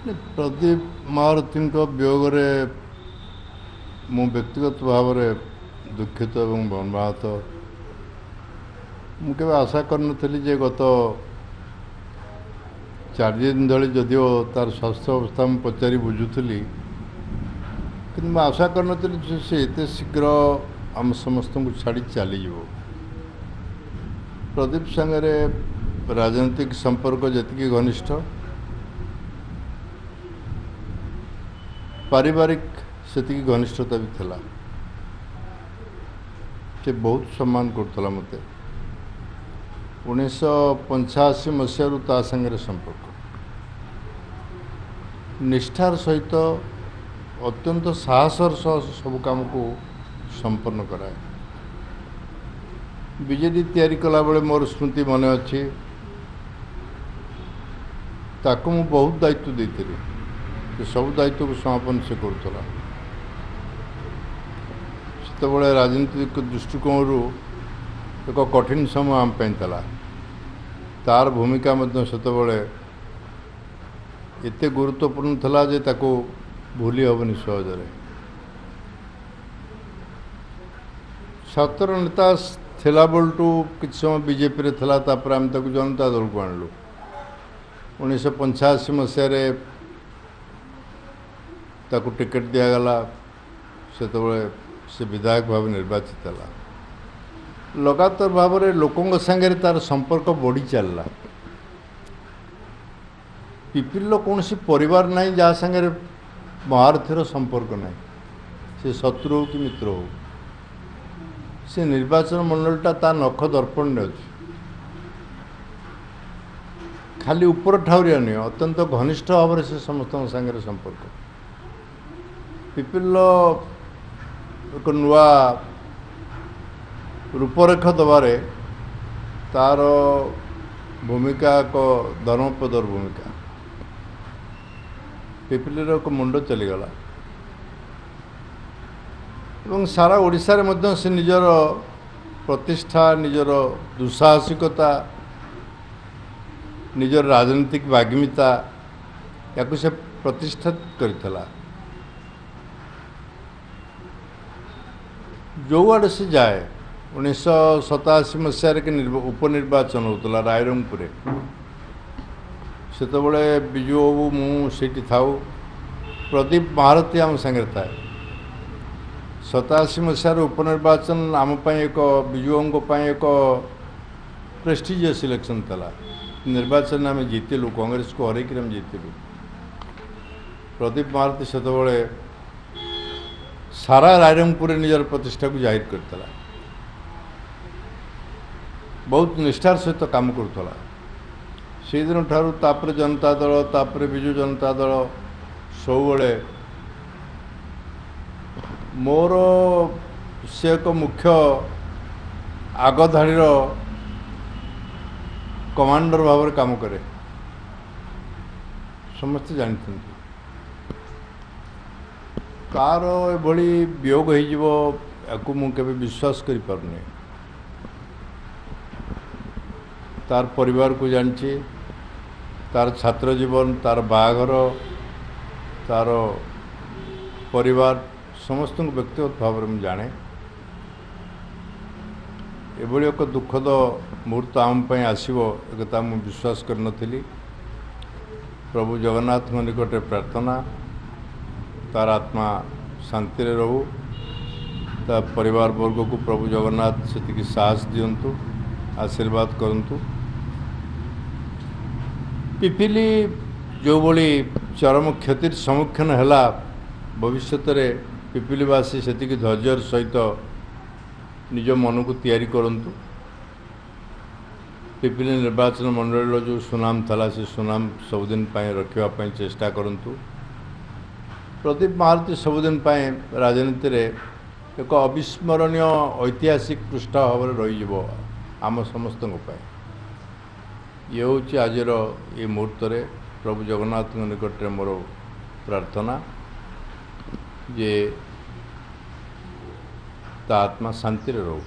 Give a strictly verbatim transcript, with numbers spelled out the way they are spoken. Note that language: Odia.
ପ୍ରଦୀପ ମହାରଥୀଙ୍କ ବିୟୋଗରେ ମୁଁ ବ୍ୟକ୍ତିଗତ ଭାବରେ ଦୁଃଖିତ ଏବଂ ମର୍ମାହତ। ମୁଁ କେବେ ଆଶା କରିନଥିଲି ଯେ ଗତ ଚାରି ଦିନ ଧରି ଯଦିଓ ତାର ସ୍ୱାସ୍ଥ୍ୟ ଅବସ୍ଥା ମୁଁ ପଚାରି ବୁଝୁଥିଲି, କିନ୍ତୁ ମୁଁ ଆଶା କରିନଥିଲି ଯେ ସେ ଏତେ ଶୀଘ୍ର ଆମ ସମସ୍ତଙ୍କୁ ଛାଡ଼ି ଚାଲିଯିବ। ପ୍ରଦୀପ ସାଙ୍ଗରେ ରାଜନୈତିକ ସମ୍ପର୍କ ଯେତିକି ଘନିଷ୍ଠ, ପାରିବାରିକ ସେତିକି ଘନିଷ୍ଠତା ବି ଥିଲା। ସେ ବହୁତ ସମ୍ମାନ କରୁଥିଲା ମୋତେ। ଉଣେଇଶହ ପଞ୍ଚାଅଶୀ ମସିହାରୁ ତା ସାଙ୍ଗରେ ସମ୍ପର୍କ, ନିଷ୍ଠାର ସହିତ ଅତ୍ୟନ୍ତ ସାହସର ସହ ସବୁ କାମକୁ ସମ୍ପନ୍ନ କରାଏ। ବିଜେଡି ତିଆରି କଲାବେଳେ ମୋର ସ୍ମୃତି ମନେ ଅଛି, ତାକୁ ମୁଁ ବହୁତ ଦାୟିତ୍ୱ ଦେଇଥିଲି। ସେ ସବୁ ଦାୟିତ୍ୱକୁ ସମାପନ ସେ କରୁଥିଲା। ସେତେବେଳେ ରାଜନୈତିକ ଦୃଷ୍ଟିକୋଣରୁ ଏକ କଠିନ ସମୟ ଆମ ପାଇଁ ଥିଲା। ତାର ଭୂମିକା ମଧ୍ୟ ସେତେବେଳେ ଏତେ ଗୁରୁତ୍ୱପୂର୍ଣ୍ଣ ଥିଲା ଯେ ତାକୁ ଭୁଲି ହେବନି ସହଜରେ। ଛାତ୍ର ନେତା ଥିଲା ବେଳଠୁ କିଛି ସମୟ ବିଜେପିରେ ଥିଲା, ତାପରେ ଆମେ ତାକୁ ଜନତା ଦଳକୁ ଆଣିଲୁ। ଉଣେଇଶହ ପଞ୍ଚାଅଶୀ ମସିହାରେ ତାକୁ ଟିକେଟ୍ ଦିଆଗଲା। ସେତେବେଳେ ସେ ବିଧାୟକ ଭାବେ ନିର୍ବାଚିତ ହେଲା। ଲଗାତାର ଭାବରେ ଲୋକଙ୍କ ସାଙ୍ଗରେ ତାର ସମ୍ପର୍କ ବଢ଼ି ଚାଲିଲା। ପିପିଲିର କୌଣସି ପରିବାର ନାହିଁ ଯାହା ସାଙ୍ଗରେ ମହାରଥୀର ସମ୍ପର୍କ ନାହିଁ, ସେ ଶତ୍ରୁ ହେଉ କି ମିତ୍ର ହେଉ। ସେ ନିର୍ବାଚନ ମଣ୍ଡଳୀଟା ତା ନଖ ଦର୍ପଣରେ ଅଛି। ଖାଲି ଉପର ଠାଉରିଆ ନୁହେଁ, ଅତ୍ୟନ୍ତ ଘନିଷ୍ଠ ଭାବରେ ସେ ସମସ୍ତଙ୍କ ସାଙ୍ଗରେ ସମ୍ପର୍କ। ପିପିଲିର ଏକ ନୂଆ ରୂପରେଖ ଦେବାରେ ତାର ଭୂମିକା ଏକ ଧର୍ମପଦର ଭୂମିକା। ପିପିଲିର ଏକ ମୁଣ୍ଡ ଚାଲିଗଲା ଏବଂ ସାରା ଓଡ଼ିଶାରେ ମଧ୍ୟ ସେ ନିଜର ପ୍ରତିଷ୍ଠା, ନିଜର ଦୁଃସାହସିକତା, ନିଜର ରାଜନୈତିକ ବାଗ୍ମିତା ୟାକୁ ସେ ପ୍ରତିଷ୍ଠା କରିଥିଲା। ଯେଉଁଆଡ଼େ ସେ ଯାଏ, ଉଣେଇଶହ ସତାଅଶୀ ମସିହାରେ କି ଉପନିର୍ବାଚନ ହେଉଥିଲା ରାଇରଙ୍ଗପୁରରେ, ସେତେବେଳେ ବିଜୁ ବାବୁ ମୁଁ ସେଇଠି ଥାଉ, ପ୍ରଦୀପ ମହାରଥୀ ଆମ ସାଙ୍ଗରେ ଥାଏ। ସତାଅଶୀ ମସିହାର ଉପନିର୍ବାଚନ ଆମ ପାଇଁ ଏକ, ବିଜୁ ବାବୁଙ୍କ ପାଇଁ ଏକ ପ୍ରେଷ୍ଟିଜିୟସ୍ ଇଲେକ୍ସନ୍ ଥିଲା। ନିର୍ବାଚନ ଆମେ ଜିତିଲୁ, କଂଗ୍ରେସକୁ ହରେଇକିରି ଆମେ ଜିତିଲୁ। ପ୍ରଦୀପ ମହାରଥୀ ସେତେବେଳେ ସାରା ରାଇରଙ୍ଗପୁରରେ ନିଜର ପ୍ରତିଷ୍ଠାକୁ ଜାହିର କରିଥିଲା। ବହୁତ ନିଷ୍ଠାର ସହିତ କାମ କରୁଥିଲା। ସେଇଦିନ ଠାରୁ ତାପରେ ଜନତା ଦଳ, ତାପରେ ବିଜୁ ଜନତା ଦଳ, ସବୁବେଳେ ମୋର ସେ ଏକ ମୁଖ୍ୟ ଆଗଧାଡ଼ିର କମାଣ୍ଡର ଭାବରେ କାମ କରେ, ସମସ୍ତେ ଜାଣିଛନ୍ତି। ତାର ଏଭଳି ବିୟୋଗ ହେଇଯିବ ୟାକୁ ମୁଁ କେବେ ବିଶ୍ୱାସ କରିପାରୁନି। ତାର ପରିବାରକୁ ଜାଣିଛି, ତାର ଛାତ୍ର ଜୀବନ, ତାର ବାହାଘର, ତାର ପରିବାର ସମସ୍ତଙ୍କୁ ବ୍ୟକ୍ତିଗତ ଭାବରେ ମୁଁ ଜାଣେ। ଏଭଳି ଏକ ଦୁଃଖଦ ମୁହୂର୍ତ୍ତ ଆମ ପାଇଁ ଆସିବ ଏକଥା ମୁଁ ବିଶ୍ୱାସ କରିନଥିଲି। ପ୍ରଭୁ ଜଗନ୍ନାଥଙ୍କ ନିକଟରେ ପ୍ରାର୍ଥନା, ତାର ଆତ୍ମା ଶାନ୍ତିରେ ରହୁ, ତା ପରିବାର ବର୍ଗକୁ ପ୍ରଭୁ ଜଗନ୍ନାଥ ସେତିକି ସାହସ ଦିଅନ୍ତୁ, ଆଶୀର୍ବାଦ କରନ୍ତୁ। ପିପିଲି ଯେଉଁଭଳି ଚରମ କ୍ଷତିର ସମ୍ମୁଖୀନ ହେଲା, ଭବିଷ୍ୟତରେ ପିପିଲିବାସୀ ସେତିକି ଧୈର୍ଯ୍ୟର ସହିତ ନିଜ ମନକୁ ତିଆରି କରନ୍ତୁ। ପିପିଲି ନିର୍ବାଚନ ମଣ୍ଡଳୀର ଯେଉଁ ସୁନାମ ଥିଲା, ସେ ସୁନାମ ସବୁଦିନ ପାଇଁ ରଖିବା ପାଇଁ ଚେଷ୍ଟା କରନ୍ତୁ। ପ୍ରଦୀପ ମହାରଥୀ ସବୁଦିନ ପାଇଁ ରାଜନୀତିରେ ଏକ ଅବିସ୍ମରଣୀୟ ଐତିହାସିକ ପୃଷ୍ଠା ଭାବରେ ରହିଯିବ ଆମ ସମସ୍ତଙ୍କ ପାଇଁ। ଇଏ ହେଉଛି ଆଜିର ଏ ମୁହୂର୍ତ୍ତରେ ପ୍ରଭୁ ଜଗନ୍ନାଥଙ୍କ ନିକଟରେ ମୋର ପ୍ରାର୍ଥନା ଯେ ତା ଆତ୍ମା ଶାନ୍ତିରେ ରହୁ।